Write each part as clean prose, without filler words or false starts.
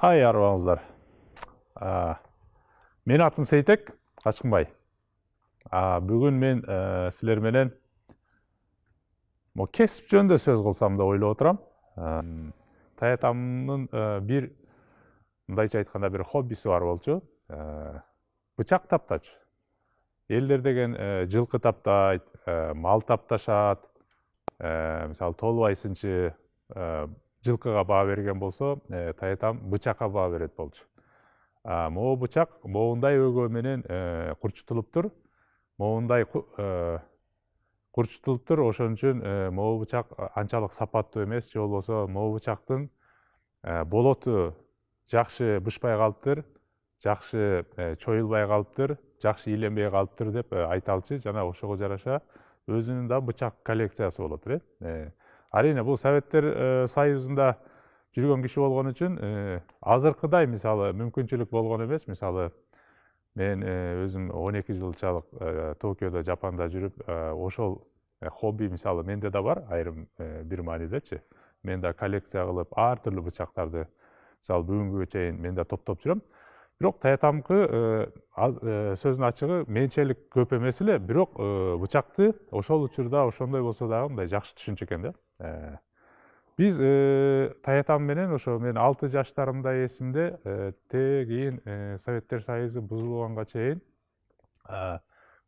Арыбаңыздар. Мен атым Сейтек Качкынбай. Бүгүн мен силер менен кесип жөнүндө сөз кылсам деп ойлоп отурам. Таятамдын бир мындайча айтканда бир хоббиси бар болчу. Бычак таптачу. Элдер деген жылкы таптайт, мал тапташат. Мисалы толбайсынчы жылкыга баа берген болсо, таятам бычакка баа берет болчу. Могу бычак моундай өгөө менен курчутулуптур. Моундай курчутулуптур, ошон үчүн могу бычак анчалык сапаттуу эмес, же болбосо могу бычактын болоту жакшы бышпай калыптыр, жакшы чоюлбай калыптыр, жакшы ийленбей калыптыр деп айталчы. Жана ошого жараша өзүнүн да бычак коллекциясы болот эле. Арине бул Советтер Союзунда жүргөн киши болгон үчүн азыркыдай мисалы мүмкүнчүлүк болгон эмес. Мисалы мен өзүм 12 жылчалык Токиодо, Жапанда жүрүп, ошол хобби мисалы менде да бар, айрым бир маанидечи. Мен да коллекция кылып, ар түрлүү бычактарды мисалы бүгүнгүгө чейин мен да топтоп жүрөм. Бирок таятамкы сөздүн ачыгы менчелик көп эмес эле, бирок бычакты ошол учурда ошондой болсо дагы мындай жакшы түшүнчү экен да. Биз таятам менен ошо мен 6 жаштарымда эсимде, кийин Советтер Союзу бузулганга чейин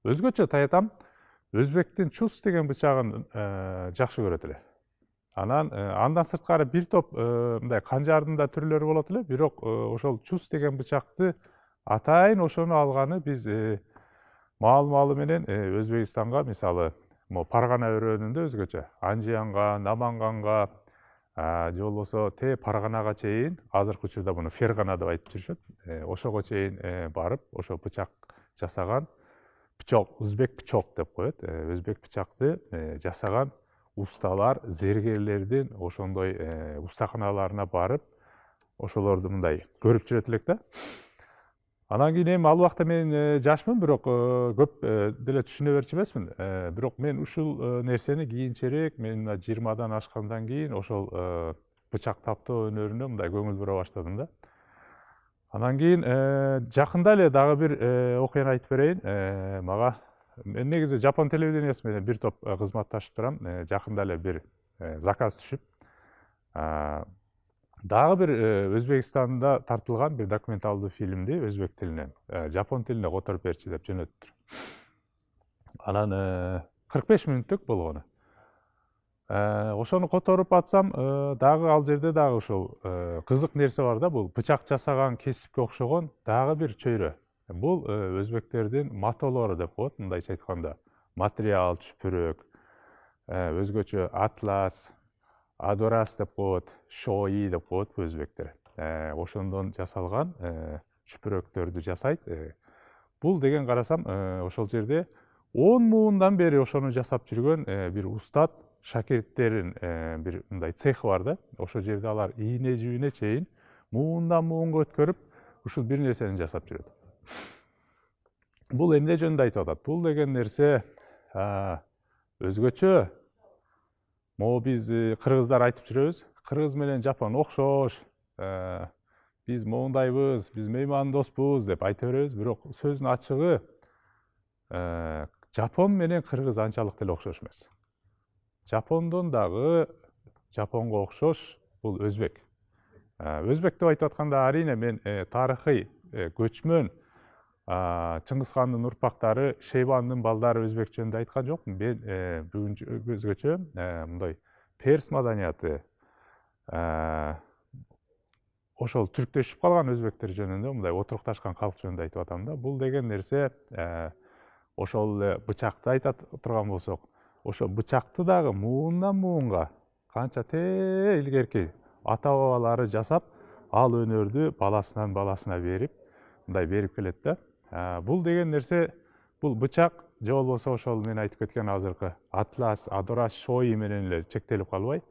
өзгөчө таятам Өзбектин чус деген бычагын жакшы көрөт эле. Андан сырткары бир топ мындай канжардын да түрлөрү болот эле, бирок ошол чус деген бычакты атайын ошону алганы биз маал-маалы менен Өзбекистанга, мисалы Паргана өрөөнүндө өзгөчө Анжиянга, Наманганга, же болбосо Парганага чейин, азыркы учурда муну Фергана деп айтып жүрүшөт. Ошого чейин барып, ошо бычак жасаган, өзбек пычок деп коет. Өзбек бычакты жасаган усталар, зергерлердин ошондой устаканаларына барып, ошолорду мындай көрүп жүрөт элек да. Анан кийин эми ал убакта мен жашмын, бирок көп деле түшүнө берчү эмесмин. Бирок мен ушул нерсени кийинчерээк, мен 20-дан ашкандан кийин ошол бычак таптоо өнөрүнө мындай көңүл бура баштадым да. Анан кийин жакында эле дагы бир окуяны айтып берейин. Мага мен негизи Жапон телевидениясы менен бир топ кызматташып турам. Жакында эле бир заказ түшүп, дагы бир Өзбекстанда тартылган бир документалдуу фильмди өзбек тилинен жапон тилине которуп берчи деп жөнөттүр. Анан 45 мүнөттүк болгону. Ошону которуп атсам, дагы ал жерде дагы ошол кызык нерсе бар да, бул бычак жасаган кесипке окшогон дагы бир чөйрө. Бул өзбектердин матолору деп коет, мындайча айтканда. Материал, чүпүрөк, өзгөчө атлас, адорас деп коет, шои деп коет өзбектер. Ошондон жасалган чүпүрөктөрдү жасайт. Бул деген карасам, ошол жерде 10 муундан бери ошону жасап жүргөн бир устат шакирттерин бир мындай цехи бар да. Ошол жерде алар ийне жибине чейин муундан муунга өткөрүп, ушул бир нерсени жасап жүрөт. Бул эмне жөнүндө айтып атат? Бул деген нерсе өзгөчө. Могу биз кыргыздар айтып жүрөбүз. Кыргыз менен Жапон окшош. Биз моундайбыз, биз меймандоспуз деп айта беребиз, бирок сөздүн ачыгы Жапон менен кыргыз анчалык деле окшош эмес. Жапондон дагы Жапонго окшош бул өзбек. Өзбек деп айтып атканда арине мен тарыхый көчмөн Чыңгыз хандын урпактары, Шейбандын балдары өзбек жөнүндө айткан жокмун. Мен бүгүн өзгөчө мындай перс маданияты, ошол түрктөшүп калган өзбектер жөнүндө, мындай отурукташкан калк жөнүндө айтып атам да. Бул деген нерсе ошол эле бычакты айта турган болсок, ошо бычакты дагы муундан муунга канча илгерки ата-бабалары жасап, ал өнөрдү баласынан баласына берип, мындай берип келет да. Бул деген нерсе, бул бычак же болбосо ошол мен айтып кеткен азыркы атлас, адорас, шои менен эле чектелип калбай,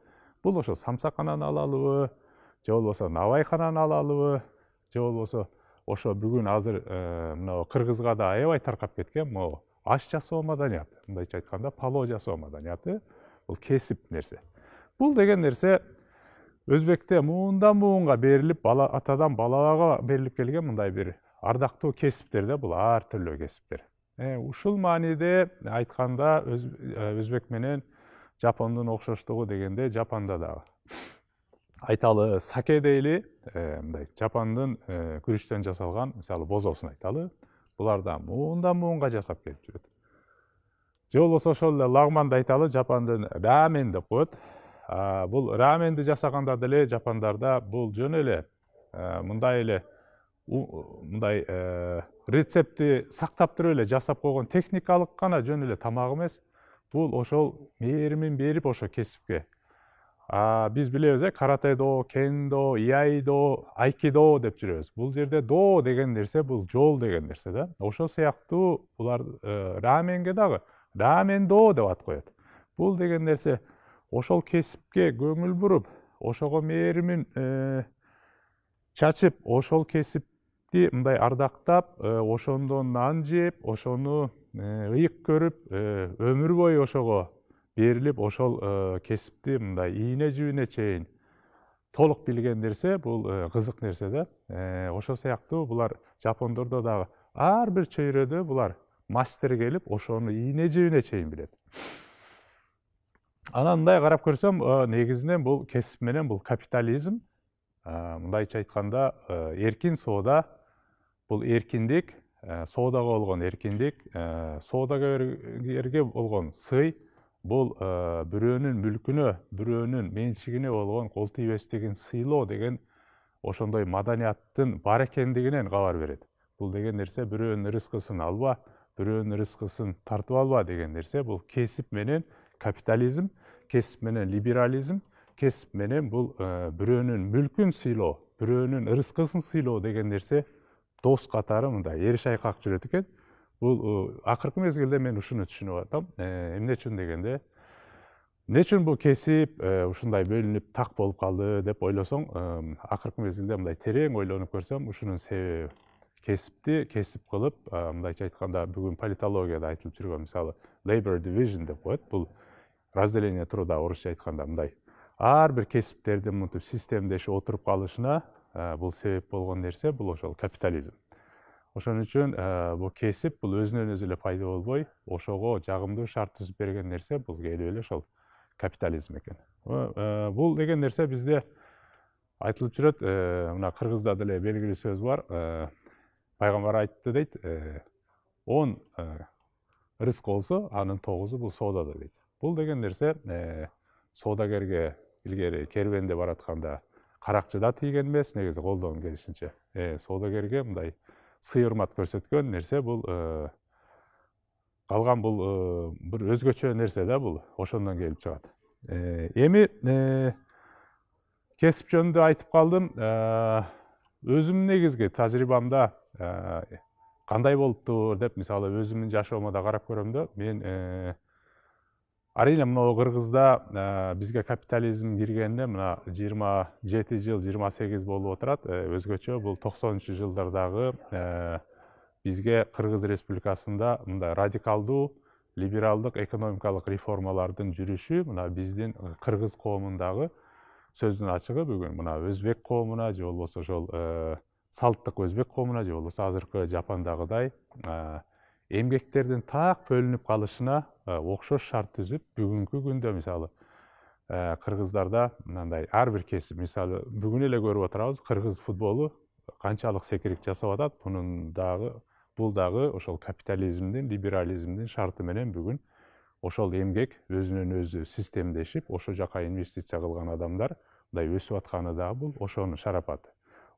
бул ошо самсаканан алалыбы, же болбосо набайканан алалыбы, же болбосо ошо бүгүн азыр мына Кыргызга да аябай таркап кеткен могу аш жасоо маданияты, мындайча айтканда палоо жасоо маданияты, бул кесип нерсе. Бул деген нерсе Өзбекте муундан муунга берилип, атадан балага берилип келген мындай бир ардактуу кесиптер да, бул ар түрлүү кесиптер. Ушул мааниде айтканда өзбек менен жапондун окшоштугу дегенде Жапанда дагы айталы саке дейли, мындай жапондун күрүчтөн жасалган, мисалы бозосун айталы, булар да муундан муунга жасап келип жүрөт. Же болбосо ошол эле лагманды айталы, жапондун рамен деп коет. Бул раменди жасаганда деле жапондарда бул жөн эле мындай эле мындай рецептти сактап туруп эле жасап койгон техникалык гана жөн эле тамак эмес. Бул ошол мээримин берип ошо кесипке. Биз билебиз, каратедо, кендо, иайдо, айкидо деп жүрөбүз. Бул жерде до деген нерсе бул жол деген нерсе да. Ошол сыяктуу булар раменге дагы рамендо деп ат коет. Бул деген нерсе ошол кесипке көңүл буруп, ошого мээримин чачып, ошол кесипти мындай ардактап, ошондон нан жеп, ошону ыйык көрүп, өмүр бою ошого берилип, ошол кесипти мындай ийне жибине чейин толук билген нерсе, бул кызык нерсе да. Ошол сыяктуу булар жапондордо дагы ар бир чөйрөдө булар мастер келип, ошону ийне жибине чейин билет. Анан мындай карап көрсөм, негизинен бул кесип менен бул капитализм, мындайча айтканда эркин соода, бул эркиндик, соодага болгон эркиндик, соодагерге болгон сый, бул бирөөнүн мүлкүнө, бирөөнүн менчигине болгон кол тийбестигин сыйлоо деген ошондой маданияттын бар экендигинен кабар берет. Бул деген нерсе бирөөнүн рызкысын алба, бирөөнүн рызкысын тартып алба деген нерсе бул кесип менен капитализм, кесип менен либерализм, кесип менен бул бирөөнүн мүлкүн сыйлоо, бирөөнүн рызкысын сыйлоо деген нерсе дос катары мындай эри шайкак жүрөт экен. Бул акыркы мезгилде мен ушуну түшүнүп атам. Эмне үчүн дегенде, эмне үчүн бул кесип ушундай бөлүнүп так болуп калды деп ойлосоң, акыркы мезгилде мындай терең ойлонуп көрсөм, ушунун себеби кесипти кесип кылып, мындайча айтканда бүгүн политологияда айтылып жүргөн мисалы labor division деп коет. Бул разделение труда орусча айтканда мындай ар бир кесиптердин мынтип системдешип отуруп калышына бул себеп болгон нерсе бул ошол капитализм. Ошон үчүн бул кесип бул өзүнөн өзү эле пайда болбой, ошого жагымдуу шарт түзүп берген нерсе бул келип эле ошол капитализм экен. Бул деген нерсе бизде айтылып жүрөт. Мына кыргызда деле белгилүү сөз бар. Пайгамбар айтты дейт, 10 рызк болсо, анын 9-у бул соодада дейт. Бул деген нерсе соодагерге илгери кербенде баратканда каракчыда тийген эмес, негизи колдон келишинче. Соодагерге мындай сый урмат көрсөткөн нерсе бул калган бул бир өзгөчө нерсе да, бул ошондон келип чыгат. Эми кесип жөнүндө айтып калдым. Өзүмдүн негизги тажрыйбамда кандай болуптур деп мисалы өзүмдүн жашоомо да карап көрөм да. Мен арийне мына Кыргызда бизге капитализм киргенине мына 27 жыл, 28 болуп отурат. Өзгөчө бул 90-жылдардагы бизге Кыргыз Республикасында мындай радикалдуу либералдык экономикалык реформалардын жүрүшү мына биздин кыргыз коомундагы сөздүн ачыгы бүгүн мына өзбек коомуна же болбосо ошол салттык өзбек коомуна же болбосо азыркы Жапондагыдай эмгектердин так бөлүнүп калышына окшош шарт түзүп, бүгүнкү күндө мисалы кыргыздарда мындай ар бир кесип, мисалы бүгүн эле көрүп отурабыз, кыргыз футболу канчалык секирик жасап атат. Бул дагы ошол капитализмдин, либерализмдин шарты менен бүгүн ошол эмгек өзүнөн өзү системдешип, ошол жака инвестиция кылган адамдар мындай өсүп атканы дагы бул ошонун шарапаты.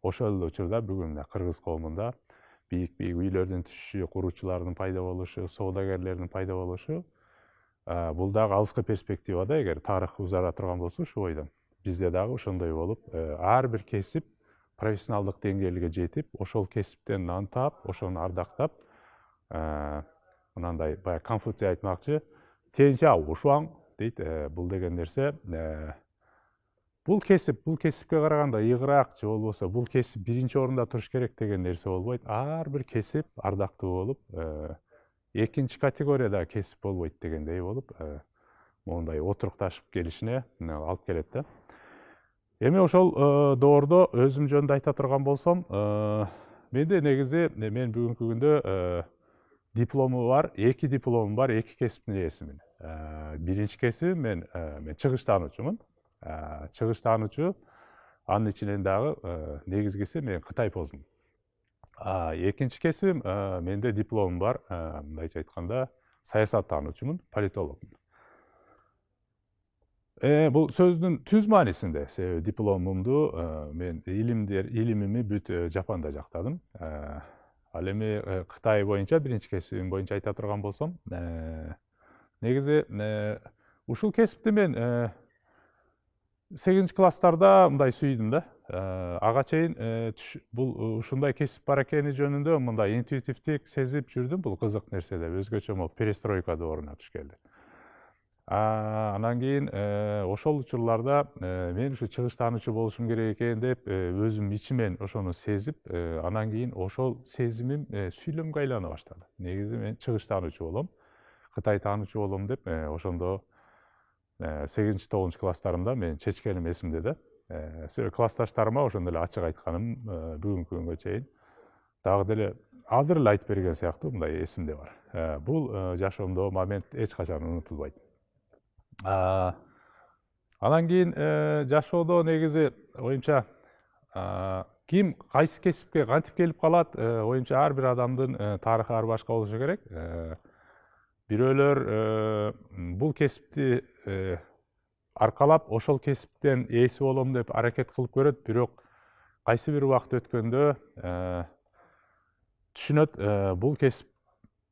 Ошол эле учурда бүгүн кыргыз коомунда бийик-бийик үйлөрдүн түшүшү, куруучулардын пайда болушу, соодагерлердин пайда болушу, бул дагы алыскы перспективада эгер тарых узара турган болсо ушул бойдон бизде дагы ошондой болуп, ар бир кесип профессионалдык деңгээлге жетип, ошол кесиптен нан таап, ошону ардактап, мынандай баягы Конфуций айтмакчы, тенжа ушуаң дейт. Бул деген нерсе бул кесипке караганда ыйыгыраак же болбосо бул кесип биринчи орунда туруш керек деген нерсе болбойт. Ар бир кесип ардактуу болуп, экинчи категорияда кесип болбойт дегендей болуп, мондай отурукташып келишине алып келет да. Эми ошол доордо өзүм жөнүндө айта турган болсом, менде негизи мен бүгүнкү күндө диплому бар, 2 дипломум бар, 2 кесиптин ээсимин. Биринчи кесибим мен чыгыш таануучумун. Чыгыш таануучу, анын ичинен дагы негизгиси мен Кытай позмун. Экинчи кесибим, менде дипломум бар, мындайча айтканда, саясат таануучумун, политологмун. Бул сөздүн түз маанисинде, себеби дипломумду мен илимими бүт Жапанда жактадым. Ал эми Кытай боюнча, биринчи кесибим боюнча айта турган болсом, негизи ушул кесипти мен 8-класстарда мындай сүйдүм да. Ага чейин бул ушундай кесип бар экени жөнүндө мындай интуитивдик сезип жүрдүм, бул кызык нерсе деп, өзгөчө могу перестройка дооруна туш келди. Анан кийин ошол учурларда мен ушу чыгыш таануучу болушум керек экен деп өзүм ичимен ошону сезип, анан кийин ошол сезимим сүйлөмгө айлана баштады. Негизи мен чыгыш таануучу болом, Кытай таануучу болом деп ошондо 8-9 класстарымда мен чечкеним эсимде да. Себеби классташтарыма ошондо эле ачык айтканым бүгүнкү күнгө чейин дагы деле азыр эле айтып берген сыяктуу мындай эсимде бар. Бул жашоомдогу момент эч качан унутулбайт. Анан кийин жашоодо негизи оюмча ким кайсы кесипке кантип келип калат, оюмча ар бир адамдын тарыхы ар башка болушу керек. Бирөөлөр бул кесипти аркалап ошол кесиптен ээси болом деп аракет кылып көрөт, бирок кайсы бир убакыт өткөндө түшүнөт, бул кесип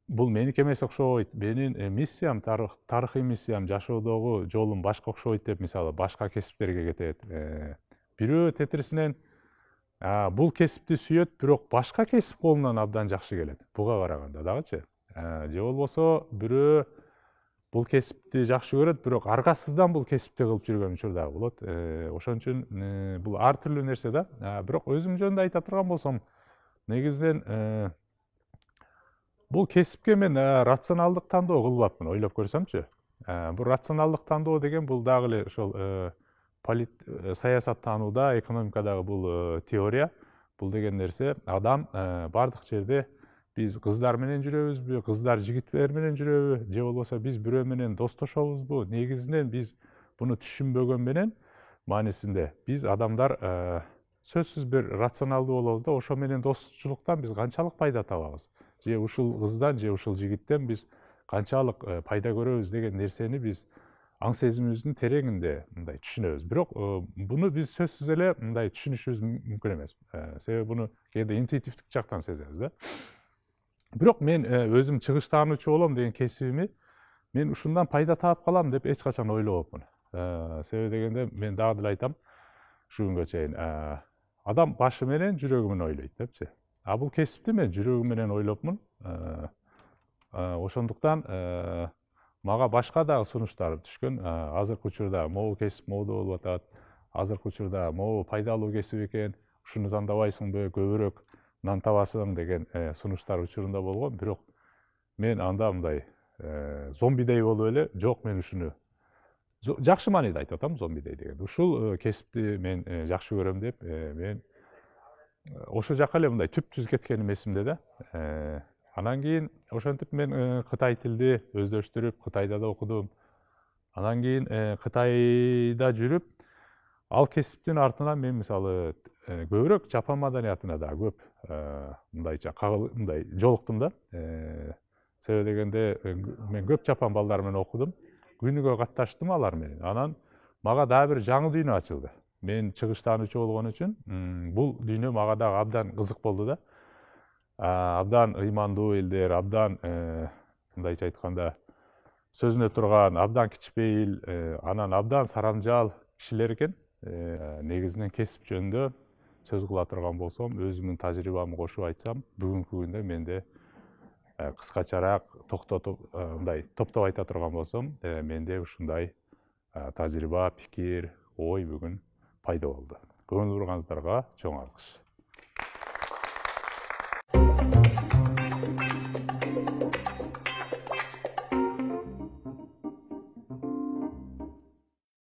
бул меники эмес окшобойт, менин миссиям, тарыхый миссиям, жашоодогу жолум башка окшобойт деп, мисалы, башка кесиптерге кетет. Бирөө тетирисинен бул кесипти сүйөт, бирок башка кесип колунан абдан жакшы келет, буга караганда дагычы. Же болбосо бирөө бул кесипти жакшы көрөт, бирок аргасыздан бул кесипти кылып жүргөн учур дагы болот. Ошон үчүн бул ар түрлүү нерсе да. Бирок өзүм жөнүндө айта турган болсом, негизинен бул кесипке мен рационалдык тандоо кылбапмын, ойлоп көрсөмчү. Бул рационалдык тандоо деген бул дагы эле ошол саясат таанууда, экономикадагы бул теория. Бул деген нерсе адам бардык жерде биз кыздар менен жүрөбүзбү, кыздар жигиттер менен жүрөбү, же болбосо биз бирөө менен достошобузбу? Негизинен биз буну түшүнбөгөн менен маанисинде биз адамдар сөзсүз бир рационалдуу болобуз да, ошо менен достучулуктан биз канчалык пайда табабыз? Же ушул кыздан, же ушул жигиттен биз канчалык пайда көрөбүз деген нерсени биз аң сезимибиздин тереңинде мындай түшүнөбүз. Бирок буну биз сөзсүз эле мындай түшүнүшүбүз мүмкүн эмес. Себеби буну кээде интуитивдик жактан сезебиз да. Бирок мен өзүм чыгыш таануучу болом деген кесибими мен ушундан пайда таап калам деп эч качан ойлобопмун. Себеби дегенде мен дагы деле айтам, ушу күнгө чейин адам башы менен жүрөгү менен ойлойт депчи. Бул кесипти мен жүрөгүм менен ойлопмун. Ошондуктан мага башка дагы сунуштар түшкөн. Азыркы учурда могу кесип мода болуп атат. Азыркы учурда могу пайдалуу кесип экен, ушуну тандабайсыңбы, көбүрөөк нан табасың деген сунуштар учурунда болгон. Бирок мен анда мындай зомбидей болуп эле, жок, мен ушуну жакшы мааниде айтып атам, зомбидей деген. Ушул кесипти мен жакшы көрөм деп, мен ошол жака эле мындай түп-түз кеткеним эсимде да. Анан кийин ошентип мен Кытай тилди өздөштүрүп, Кытайда да окудум. Анан кийин Кытайда жүрүп, ал кесиптин артынан мен мисалы көбүрөөк Жапон маданиятына да көп мындайча мындай жолуктум да. Себеби дегенде мен көп Жапон балдары менен окудум, күнүгө катташтым алар менен. Анан мага дагы бир жаңы дүйнө ачылды. Мен чыгыш таануучу болгон үчүн бул дүйнө мага дагы абдан кызык болду да. Абдан ыймандуу элдер, абдан мындайча айтканда сөзүнө турган, абдан кичпейил, анан абдан сарамжаал кишилер экен. Негизинен кесип жөнүндө сөз кыла турган болсом, өзүмдүн тажрыйбамды кошуп айтсам, бүгүнкү күндө менде кыскачараак мындай топтоп айта турган болсом, менде ушундай тажрыйба, пикир, ой бүгүн пайда болду. Көңүл бурганыңыздарга чоң алкыш.